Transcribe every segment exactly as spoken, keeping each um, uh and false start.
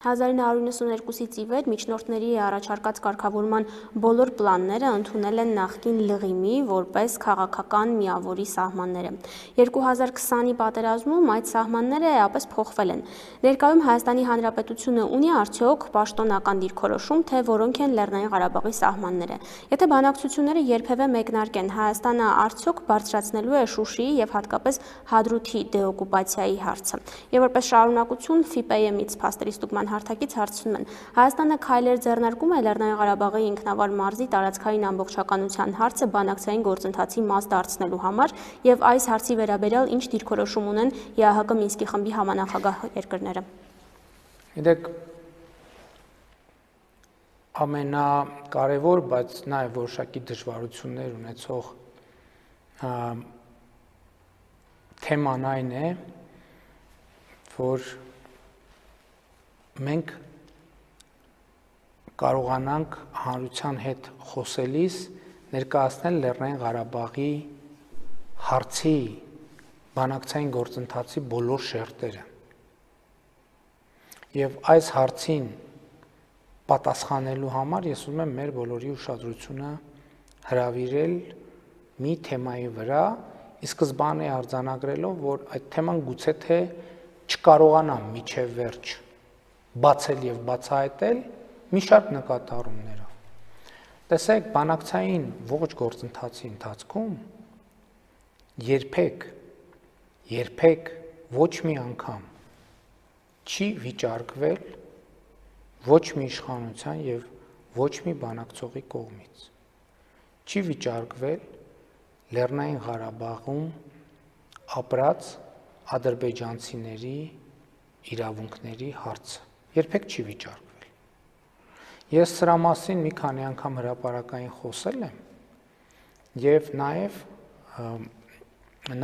հազար նույն հարյուր նվսանուերկուսից ի վեր միջնորդների առաջարկած կարգավորման բոլոր պլանները ընդունել են նախկին լղիմի որպես քաղաքական միավորի սահմանները։ երկու հազար քսանի պատերազմում այդ սահմանները էապես փոխվել են։ Ներկայում Հայաստանի Հանրապետությունը ունի արդյոք պաշտոնական դիրքորոշում, թե որոնք են Լեռնային Ղարաբաղի սահմանները։ Եթե բանակցությունները երբևէ մեկնարկեն, Հայաստանը արդյոք բարձրացնելու է Շուշիի եւ հատկապես Հադրութի դեօկուպացիայի հարցը։ Եվ որպես շարունակություն ՖԻՊԵ-ից փաստերի ստուգման հարթակից հարցնում են. Հայաստանը քայլեր ձեռնարկում է Լեռնային Ղարաբաղի ինքնավար մարզի տարածքային ամբողջականության հարցը բանակցային գործընթացի մաս դարձնելու համար եւ այս հարցի վերաբերյալ ինչ դիրքորոշում ունեն ԵԱՀԿ Մինսկի խմբի համանախագահ երկրները։ Գիտեք, ամենակարևոր, բայց նաեւ որոշակի դժվարություններ ունեցող թեման այն է, որ մենք կարողանանք հանրության հետ խոսելիս ներկայացնել Լեռնային Ղարաբաղի հարցի բանակցային գործընթացի բոլոր շերտերը։ Եվ այս հարցին պատասխանելու համար ես ուզում եմ մեր բոլորի ուշադրությունը հրավիրել մի թեմայի վրա, ի սկզբանե արձանագրելով, որ այդ թեման գուցե թե չկարողանամ մինչև վերջ բացել եւ բացահայտել մի շարք նկատառումներով։ Տեսեք, բանակցային ողջ գործընթացի ընթացքում երբեք, երբեք ոչ մի անգամ չի վիճարկվել ոչ մի իշխանության եւ ոչ մի բանակցողի կողմից։ Չի վիճարկվել Լեռնային Ղարաբաղում ապրած ադրբեջանցիների իրավունքների հարցը։ Երբեք չի վիճարկվել։ Ես սրա մասին մի քանի անգամ հրապարակային խոսել եմ եւ նաեւ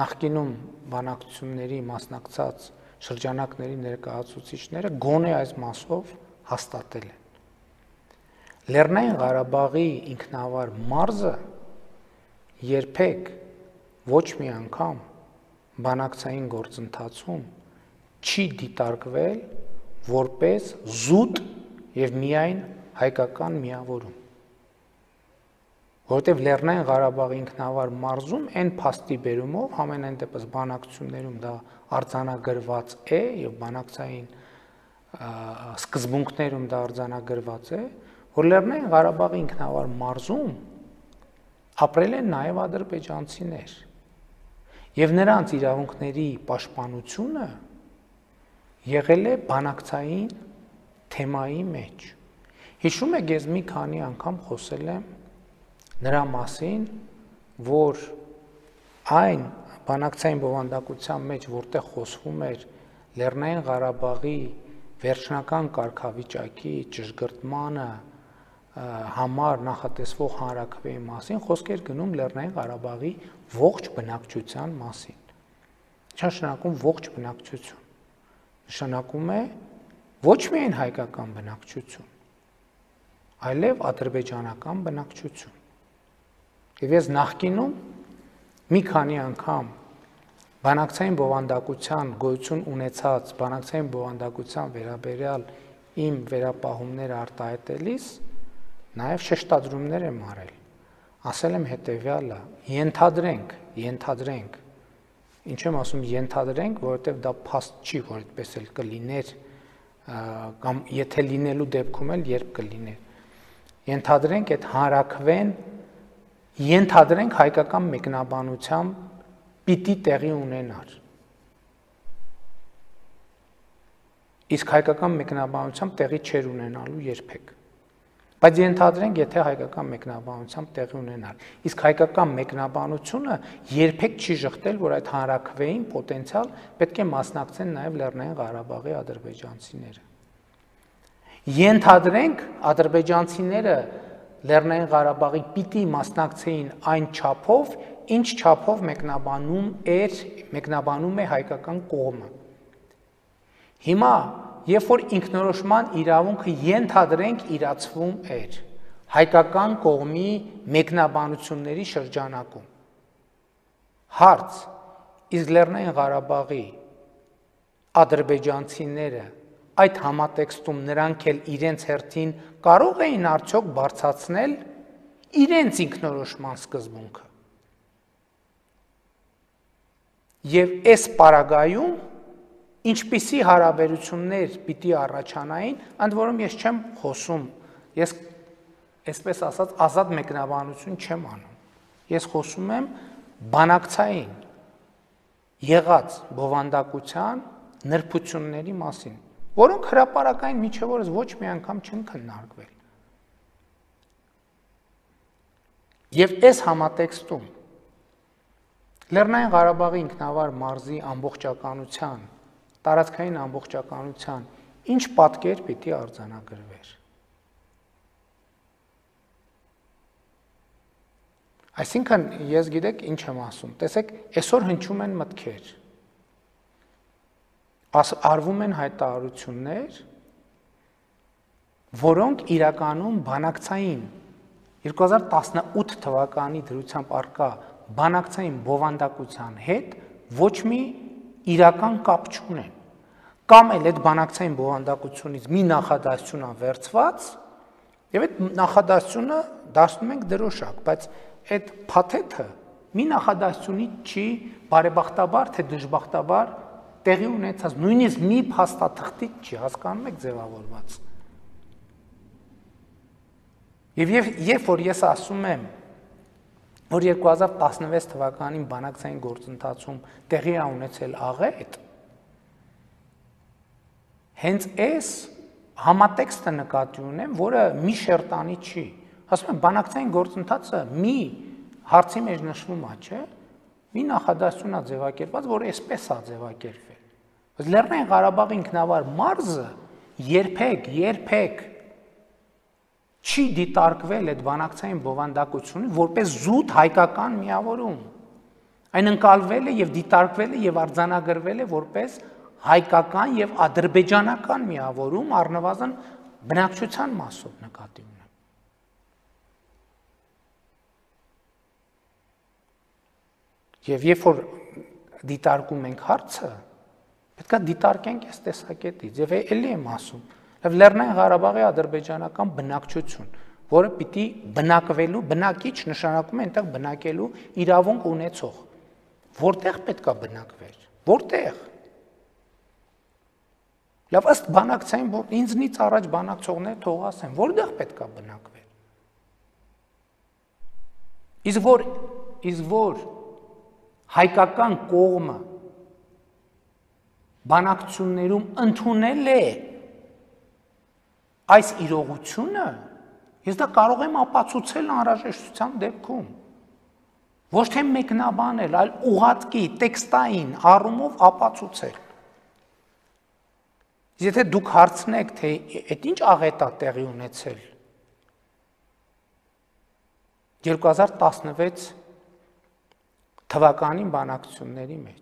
նախկինում բանակցությունների մասնակցած շրջանակների ներկայացուցիչները գոնե այս մասով հաստատել են։ Լեռնային Ղարաբաղի ինքնավար մարզը երբեք ոչ մի անգամ բանակցային գործընթացում չի դիտարկվել որպես զուտ եւ միայն հայկական միավորում։ Որովհետեւ Լեռնային Ղարաբաղի ինքնավար մարզում այն փաստի բերումով ամենայն դեպս բանակցություններում դա արձանագրված է եւ բանակցային սկզբունքներում դա արձանագրված է, որ Լեռնային Ղարաբաղի ինքնավար մարզում ապրել են նաեւ ադրբեջանցիներ եւ նրանց իրավունքների պաշտպանությունը եղել է բանակցային թեմայի մեջ։ Հիշում եք, ես մի քանի անգամ խոսել եմ նրա մասին, որ այն բանակցային բովանդակության մեջ, որտեղ խոսվում էր Լեռնային Ղարաբաղի վերջնական կարգավիճակի ճշգրտմանը համար նախատեսվող հանրաքվեի մասին, խոսք էր գնում Լեռնային Ղարաբաղի ողջ բնակչության մասին։ Ինչ նշանակում ողջ բնակչություն։ Նշանակում է ոչ միայն հայկական բնակչություն, այլև ադրբեջանական բնակչություն։ Եվ ես նախկինում մի քանի անգամ բանակցային բովանդակության գոյություն ունեցած բանակցային բովանդակության վերաբերյալ իմ վերապահումները արտահայտելիս նաև շեշտադրումներ եմ արել։ Ասել եմ հետևյալը. ենթադրենք, ենթադրենք, ինչ եմ ասում ենթադրենք, որովհետև դա փաստ չի, որ այդպես էլ կլիներ, կամ եթե լինելու դեպքում էլ երբ կլիներ։ Ենթադրենք այդ հանրաքվեն, ենթադրենք հայկական մեկնաբանությամբ պիտի տեղի ունենար։ Իսկ հայկական մեկնաբանությամբ տեղի չէր ունենալու երբեք։ Բայց ենթադրենք, եթե հայկական մեկնաբանությամբ տեղի ունենար։ Իսկ հայկական մեկնաբանությունը երբեք չի շղթել, որ այդ հանրաքվեին պոտենցիալ պետք է մասնակցեն նաև Լեռնային Ղարաբաղի ադրբեջանցիները։ Ենթադրենք, ադրբեջանցիները Լեռնային Ղարաբաղի պիտի մասնակցեին այն չափով, ինչ չափով մեկնաբանում էր, մեկնաբանում է հայկական կողմը։ Հիմա, երբ որ ինքնորոշման իրավունքը ենթադրենք իրացվում էր հայկական կողմի մեկնաբանությունների շրջանակում, հարց, իսկ Լեռնային Ղարաբաղի ադրբեջանցիները այդ համատեքստում նրանք էլ իրենց հերթին կարող էին արդյոք բարձրացնել իրենց ինքնորոշման սկզբունքը։ Եվ այս պարագայում ինչպիսի հարաբերություններ պիտի առաջանային, ընդ որում ես չեմ խոսում, ես այսպես ասած ազատ մեկնաբանություն չեմ անում, ես խոսում եմ բանակցային եղած բովանդակության նրբությունների մասին, որոնք հրապարակային միջև օրս ոչ մի անգամ չեն քննարկվել։ Եվ այս համատեքստում Լեռնային Ղարաբաղի ինքնավար մարզի ամբողջականության, տարածքային ամբողջականության ինչ պատկեր պիտի արձանագրվեր։ Այսինքն ես գիտեք ինչ եմ ասում, տեսեք, այսօր հնչում են մտքեր, արվում են հայտարարություններ, որոնք իրականում բանակցային երկու հազար տասնութ թվականի դրությամբ առկա բանակցային բովանդակության հետ ոչ մի իրական կապ չունեն, կամ էլ այդ բանակցային բովանդակությունից մի նախադասություն է վերցված, եւ այդ նախադասությունը դարձնում ենք դրոշակ, բայց այդ փաթեթը մի նախադասությունից չի բարեբախտաբար թե դժբախտաբար տեղի ունեցած, նույնիսկ մի փաստաթղթից չի, հասկանում եք ձևավորված։ Եվ երբ որ ես ասում եմ, որ երկու հազար տասնվեց թվականին բանակցային գործընթացում տեղի է ունեցել աղետ, հենց այս համատեքստը նկատի ունեմ, որը մի շերտանի չի, ասում եմ, բանակցային գործընթացը մի հարցի մեջ նշվում է, չէ, մի նախադասություն է ձևակերպված, որը այսպես է ձևակերպվել։ Բայց Լեռնային Ղարաբաղի ինքնավար մարզը երբեք, երբեք չի դիտարկվել այդ բանակցային բովանդակությունը որպես զուտ հայկական միավորում։ Այն ընկալվել է եւ դիտարկվել է եւ արձանագրվել է որպես հայկական եւ ադրբեջանական միավորում, առնվազն բնակչության մասով նկատի ունեմ։ Եվ երբ որ դիտարկում ենք հարցը, պետք է դիտարկենք այս տեսակետից եւ էլի եմ ասում, եւ Լեռնային Ղարաբաղի ադրբեջանական բնակչություն, որը պիտի բնակվելու, բնակիչ նշանակում է այնտեղ բնակելու իրավունք ունեցող, որտեղ պետք է բնակվեր, որտեղ։ Լավ, ըստ բանակցային, ինձնից առաջ բանակցողներ թող ասեն, որտեղ պետք է բնակվեր։ Իսկ որ, իսկ որ հայկական կողմը բանակցություններում ընդունել է այս իրողությունը, ես դա կարող եմ ապացուցել անհրաժեշտության դեպքում, ոչ թե մեկնաբանել, այլ ուղղակի տեքստային առումով ապացուցել։ Եթե դուք հարցնեք, թե այդ ինչ աղետ է տեղի ունեցել երկու հազար տասնվեց թվականին բանակցությունների մեջ,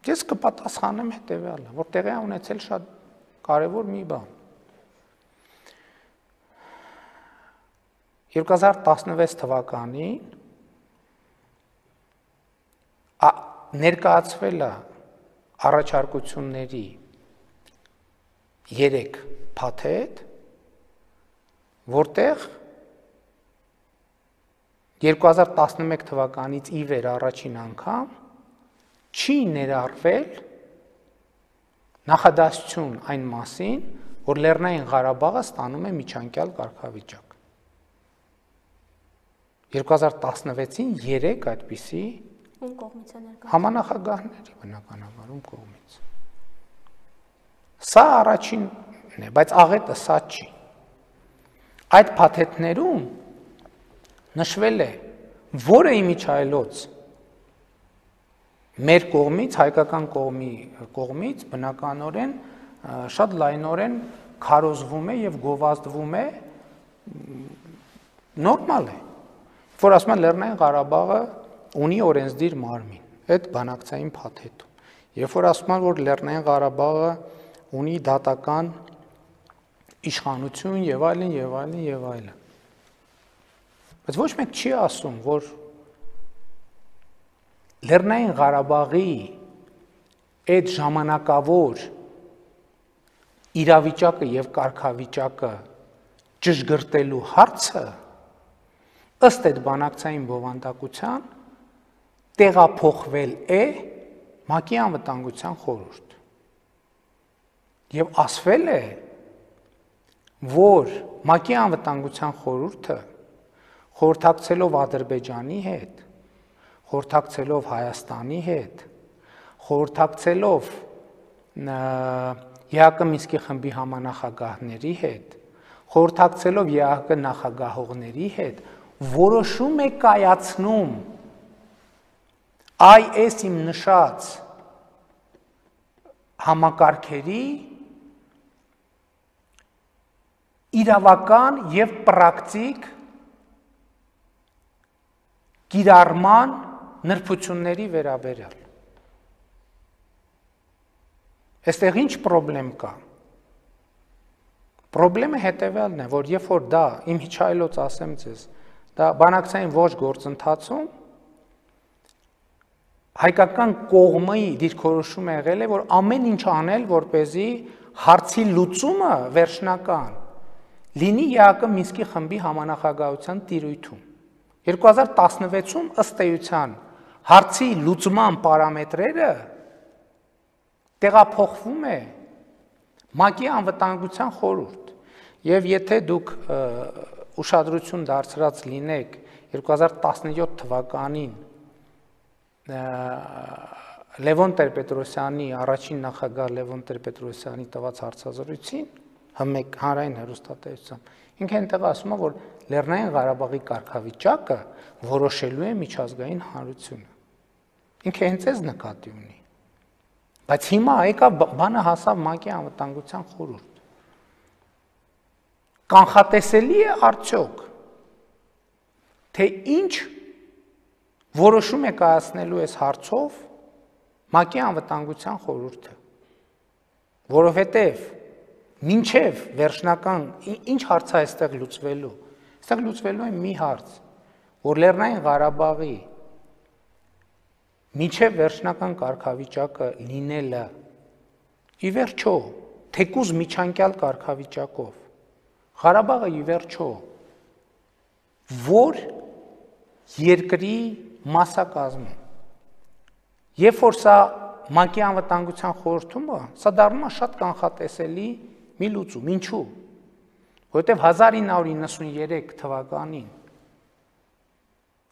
ես կպատասխանեմ հետևյալը, որ տեղի է ունեցել շատ կարևոր մի բան։ երկու հազար տասնվեց թվականին ներկայացվել է առաջարկությունների երեք փաթեթ, որտեղ երկու հազար տասնմեկ թվականից ի վեր առաջին անգամ չի ներառվել նախադասություն այն մասին, որ Լեռնային Ղարաբաղը ստանում է միջանկյալ կարգավիճակ։ երկու հազար տասնվեցին երեք այդպիսի համանախագահների բնականաբարում կողմից։ Սա առաջինն է, բայց աղետը սա չի։ Այդ փաթեթներում նշվել է, որը իմիջայլոց մեր կողմից, հայկական կողմի կողմից բնականորեն շատ լայնորեն քարոզվում է եւ գովազդվում է, նորմալ է, որ ասում են Լեռնային Ղարաբաղը ունի օրենսդիր մարմին, այդ բանակցային փաթեթում։ Երբ որ ասում են, որ Լեռնային Ղարաբաղը ունի դատական իշխանություն եւ այլն եւ այլն եւ այլն։ Բայց ոչ մեկ չի ասում, որ Լեռնային Ղարաբաղի այդ ժամանակավոր իրավիճակը եւ կարգավիճակը ճշգրտելու հարցը ըստ այդ բանակցային բովանդակության տեղափոխվել է ՄԱԿ-ի անվտանգության խորհուրդ։ Եվ ասվել է, որ ՄԱԿ-ի անվտանգության խորհուրդը խորհրդակցելով Ադրբեջանի հետ, խորհրդակցելով Հայաստանի հետ, խորհրդակցելով ԵԱՀԿ Մինսկի խմբի համանախագահների հետ, խորհրդակցելով ԵԱՀԿ նախագահողների հետ, որոշում է կայացնում այ այս իմ նշած համակարգերի իրավական եւ պրակտիկ կիրառման նրբությունների վերաբերյալ։ Այստեղ ինչ պրոբլեմ կա։ Պրոբլեմը հետևյալն է, որ երբ որ դա իմ հիչայլոց ասեմ ձեզ, դա բանակցային ոչ գործընթացում հայկական կողմի դիրքորոշումը եղել է, որ ամեն ինչ անել, որպեսզի հարցի լուծումը վերջնական լինի ԵԱՀԿ Մինսկի խմբի համանախագահության տիրույթում։ երկու հազար տասնվեցում ըստ էության հարցի լուծման պարամետրերը տեղափոխվում է ՄԱԿ-ի անվտանգության խորհուրդ։ Եվ եթե դուք ուշադրություն դարձրած լինեք երկու հազար տասնյոթ թվականին Լևոն Տեր-Պետրոսյանի, առաջին նախագահ Լևոն Տեր-Պետրոսյանի տված հարցազրույցին, հանրային հեռուստատեսությամբ, ինքը այնտեղ ասում է, որ Լեռնային Ղարաբաղի կարգավիճակը որոշելու է միջազգային հանրությունը։ Ինքը հենց էս նկատի ունի։ Բայց հիմա եկա բանը հասավ ՄԱԿ-ի անվտանգության խորհուրդ։ Կանխատեսելի է արդյոք, թե ինչ որոշում է կայացնելու այս հարցով ՄԱԿ-ի անվտանգության խորհուրդը, որովհետև մինչև վերջնական ինչ հարց է այստեղ լուծվելու, այստեղ լուծվելու է մի հարց, որ Լեռնային Ղարաբաղի մինչև վերջնական կարգավիճակը լինելը ի վերջո թեկուզ միջանկյալ կարգավիճակով Ղարաբաղը ի վերջո որ երկրի մասնակազմում։ Երբ որ սա ՄԱԿ-ի անվտանգության խորհրդում է, սա դառնում է շատ կանխատեսելի մի լուծում։ Ինչու՞։ Որովհետև հազար ինը հարյուր իննսուներեք թվականին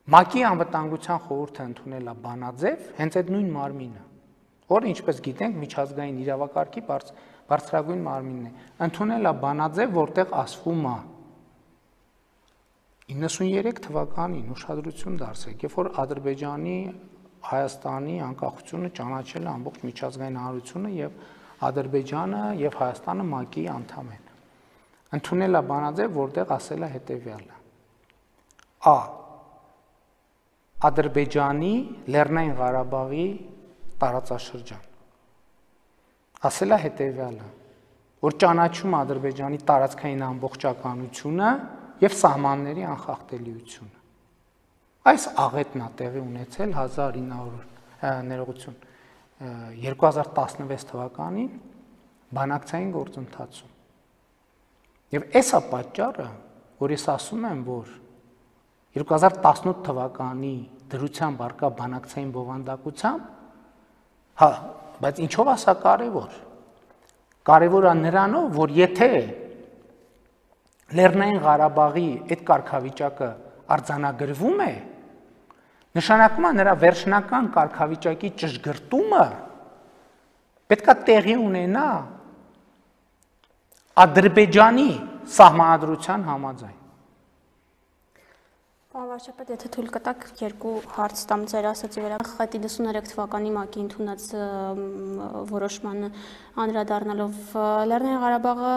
ՄԱԿ-ի անվտանգության խորհուրդը ընդունել է բանաձև, հենց այդ նույն մարմինը, որը ինչպես գիտենք, միջազգային իրավակարգի բարձրագույն մարմինն է, ընդունել է բանաձև, որտեղ ասվում է իննսուներեք թվականին ուշադրություն դարձրեք, երբ որ Ադրբեջանի, Հայաստանի անկախությունը ճանաչել է ամբողջ միջազգային հանրությունը եւ Ադրբեջանը եւ Հայաստանը ՄԱԿ-ի անդամ են։ Ընդունել է բանաձև, որտեղ ասել է հետեւյալը. Ա. Ադրբեջանի Լեռնային Ղարաբաղի տարածաշրջան։ Ասել է հետեւյալը, որ ճանաչում է Ադրբեջանի տարածքային ամբողջականությունը եւ սահմանների անխախտելիությունը։ Այս աղետն է տեղի ունեցել հազար ինը հարյուր ներողություն երկու հազար տասնվեց թվականին բանակցային գործընթացում։ Եվ այս է պատճառը, որ ես ասում եմ, որ երկու հազար տասնութ թվականի դրությամբ արկա բանակցային բովանդակությամբ, հա, բայց ինչով է սա կարևոր։ Կարևոր է նրանով, որ եթե Լեռնային Ղարաբաղի այդ կարգավիճակը արձանագրվում է, նշանակում է նրա վերջնական կարգավիճակի ճշգրտումը պետք է տեղի ունենա Ադրբեջանի սահմանադրության համաձայն։ Պարոն վարչապետ, եթե թույլ կտաք, երկու հարց տամ ձեր ասացի վրա։ Խետի իննսուներեք թվականի ՄԱԿ-ի ընդունած որոշմանը անդրադառնալով Լեռնային Ղարաբաղը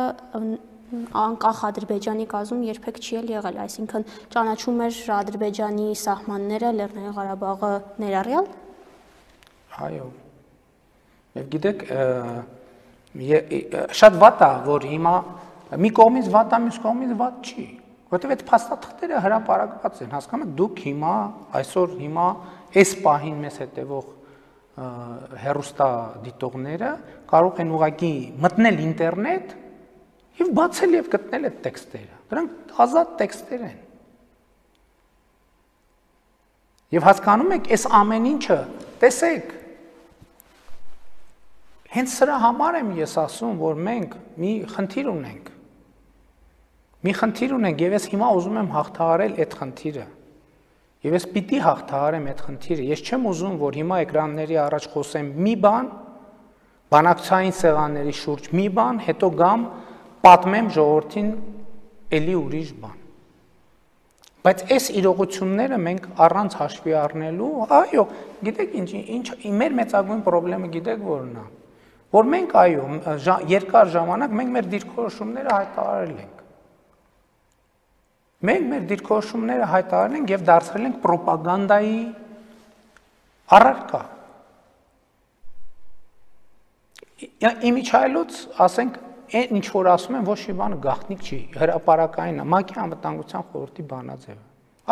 անկախ Ադրբեջանի կազմում երբեք չի եղել, այսինքն ճանաչում էր Ադրբեջանի սահմանները Լեռնային Ղարաբաղը ներառյալ։ Այո։ Եվ գիտեք, շատ վատ է, որ հիմա մի կողմից վատ է, մյուս կողմից վատ չի, որովհետև այդ փաստաթղթերը հրապարակված են, հասկանում եք, դուք հիմա այսօր հիմա այս պահին մեզ հետևող հեռուստա դիտողները կարող են ուղղակի մտնել ինտերնետ եւ բացել եւ գտնել այդ տեքստերը։ Դրանք ազատ տեքստեր են։ Եվ հասկանում եք, այս ամեն ինչը, տեսեք, հենց սրա համար եմ ես ասում, որ մենք մի խնդիր ունենք։ Մի խնդիր ունենք եւ ես հիմա ուզում եմ հաղթահարել այդ խնդիրը։ Եվ ես պիտի հաղթահարեմ այդ խնդիրը։ Ես չեմ ուզում, որ հիմա էկրանների առաջ խոսեմ մի բան, բանակցային սեղանների շուրջ մի բան, հետո գամ պատմեմ ժողովրդին էլի ուրիշ բան։ Բայց այս իրողությունները մենք առանց հաշվի առնելու, այո, գիտեք ինչ, ինչ մեր մեծագույն խնդրեմը գիտեք որն է, որ մենք այո, երկար ժամանակ մենք մեր դիրքորոշումները հայտարարել ենք։ Մենք մեր դիրքորոշումները հայտարարել ենք եւ դարձրել ենք ռոպագանդայի առարկա։ Իմիջայլոց, ասենք, այն ինչ որ ասում են, ոչ մի բան գաղտնիք չի, հրապարակային է, ՄԱԿ-ի անվտանգության խորհրդի բանաձևը։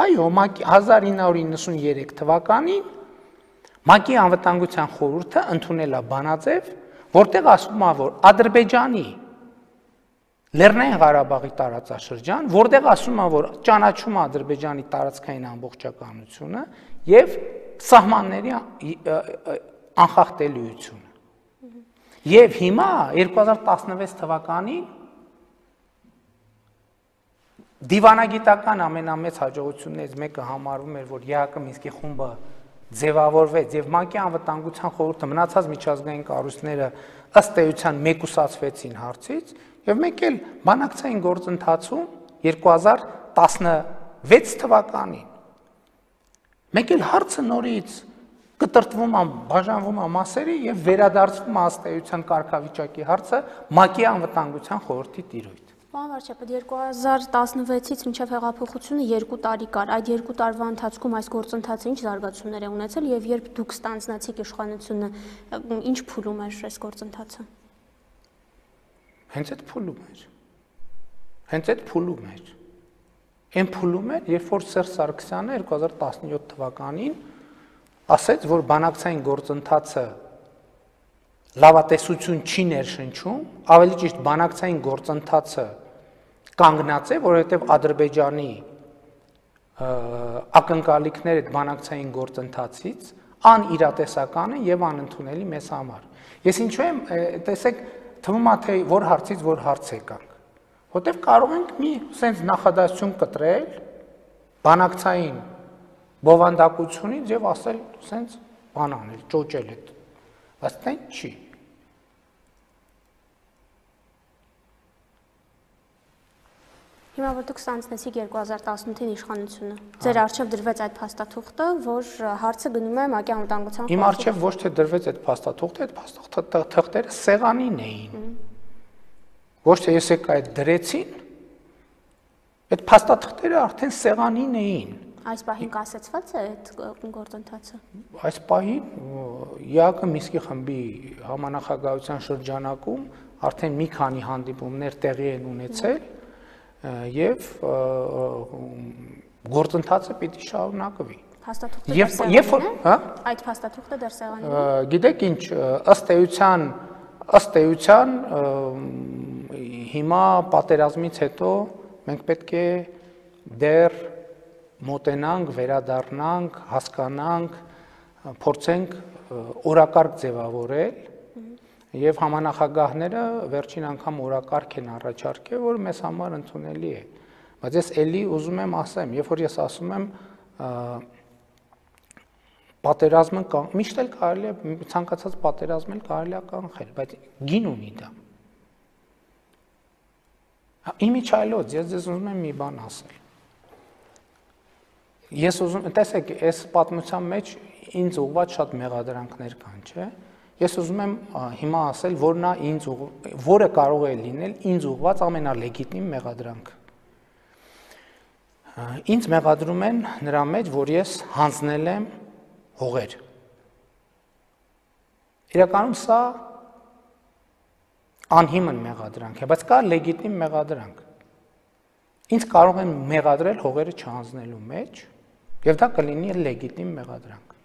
Այո, հազար ինը հարյուր իննսուններեք թվականին ՄԱԿ-ի անվտանգության խորհուրդը ընդունել է բանաձև, որտեղ ասում է, որ Ադրբեջանի Լեռնային Ղարաբաղի տարածաշրջան, որտեղ ասում է, որ ճանաչում է Ադրբեջանի տարածքային ամբողջականությունը եւ սահմանների անխախտելիությունը։ Եվ հիմա երկու հազար տասնվեց թվականին դիվանագիտական ամենամեծ հաջողություններից մեկը համարվում էր, որ ԵԱՀԿ Մինսկի խումբը ձևավորվեց եւ ՄԱԿ-ի անվտանգության խորհուրդը մնացած միջազգային կառույցները ըստ էության մեկուսացվեցին հարցից եւ մենք էլ բանակցային գործընթացում երկու հազար տասնվեց թվականին մենք էլ հարցը նորից կտրտվում է, բաժանվում է մասերի եւ վերադարձվում է ըստ էության կարգավիճակի հարցը ՄԱԿ-ի անվտանգության խորհրդի տիրույթ։ Պարոն Վարչապետ, երկու հազար տասնվեցից մինչև հեղափոխությունը երկու տարի կար։ Այդ երկու տարվա ընթացքում այս գործընթացը ինչ զարգացումներ է ունեցել եւ երբ դուք ստանձնացիք իշխանությունը, ինչ փուլում էր այս գործընթացը։ Հենց այդ փուլում էր։ Հենց այդ փուլում էր։ Այն փուլում էր, երբ որ Սերժ Սարգսյանը երկու հազար տասնյոթ թվականին ասեց, որ բանակցային գործընթացը լավատեսություն չի ներշնչում, ավելի ճիշտ բանակցային գործընթացը կանգնած է, որովհետև Ադրբեջանի ակնկալիքները այդ բանակցային գործընթացից անիրատեսական են եւ անընդունելի մեզ համար։ Ես ինչու եմ, տեսեք, թվում է թե որ հարցից որ հարց եկանք, որտեղ կարող ենք մի sense նախադասություն կտրել բանակցային բովանդակությունից եւ ասել sense բան անել, ճոճել այդ։ Բայց դա չի։ Հիմա որ դուք ստանձնեցիք երկու հազար տասնութին իշխանությունը, ձեր առջև դրվեց այդ փաստաթուղթը, որ հարցը գնում է ՄԱԿ-ի անվտանգության խորհրդի։ Իմ առջև ոչ թե դրվեց այդ փաստաթուղթը, այդ փաստաթղթերը սեղանին էին։ Ոչ թե ես եկա այդ դրեցին, այդ փաստաթղթերը արդեն սեղանին էին։ Այս պահին կասեցված է այդ գործընթացը։ Այս պահին ԵԱՀԿ Մինսկի խմբի համանախագահության շրջանակում արդեն մի քանի հանդիպումներ տեղի են ունեցել եւ գործընթացը պիտի շարունակվի։ Փաստաթուղթը դեռ սեղանին է։ Այդ փաստաթուղթը դեռ սեղանին է։ Գիտեք ինչ, ըստ էության, ըստ էության հիմա պատերազմից հետո մենք պետք է դեռ մոտենանք, վերադառնանք, հասկանանք, փորձենք օրակարգ ձևավորել եւ համանախագահները վերջին անգամ օրակարգ են առաջարկել, որ մեզ համար ընդունելի է։ Բայց ես էլի ուզում եմ ասեմ, երբ որ ես ասում եմ պատերազմը միշտ էլ կարելի է ցանկացած պատերազմ էլ կարելի է կանխել, բայց գին ունի դա։ Իմիջայլոց ես ձեզ ուզում եմ մի բան ասել։ Ես ուզում, տեսեք, այս պատմության մեջ ինձ ուղղված շատ մեղադրանքներ կան, չէ՞։ Ես ուզում եմ հիմա ասել, որն է ինձ որը կարող է լինել ինձ ուղղված ամենալեգիտիմ մեղադրանքը։ Ինձ մեղադրում են նրա մեջ, որ ես հանձնել եմ հողեր։ Իրականում սա անհիմն մեղադրանք է, բայց կա լեգիտիմ մեղադրանք։ Ինձ կարող են մեղադրել հողերը չհանձնելու մեջ, եւ դա կլինի լեգիտիմ մեղադրանք։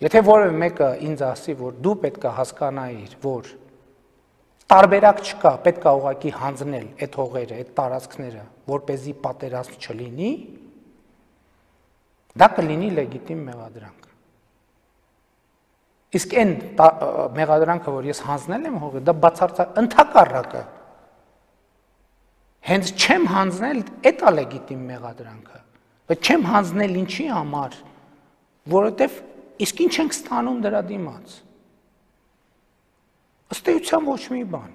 Եթե որևէ մեկը ինձ ասի, որ դու պետք է հասկանայիր, որ տարբերակ չկա, պետք է ուղղակի հանձնել այդ հողերը, այդ տարածքները, որպեսզի պատերազմ չլինի, դա կլինի լեգիտիմ մեղադրանք։ Իսկ այն մեղադրանքը, որ ես հանձնել եմ հողը, դա բացարձակ ընդհակառակը։ Հենց չեմ հանձնել, այդ է լեգիտիմ մեղադրանքը։ Բայց չեմ հանձնել ինչի համար, որովհետև իսկ ինչ ենք ստանում դրա դիմաց։ Ըստ էության ոչ մի բան։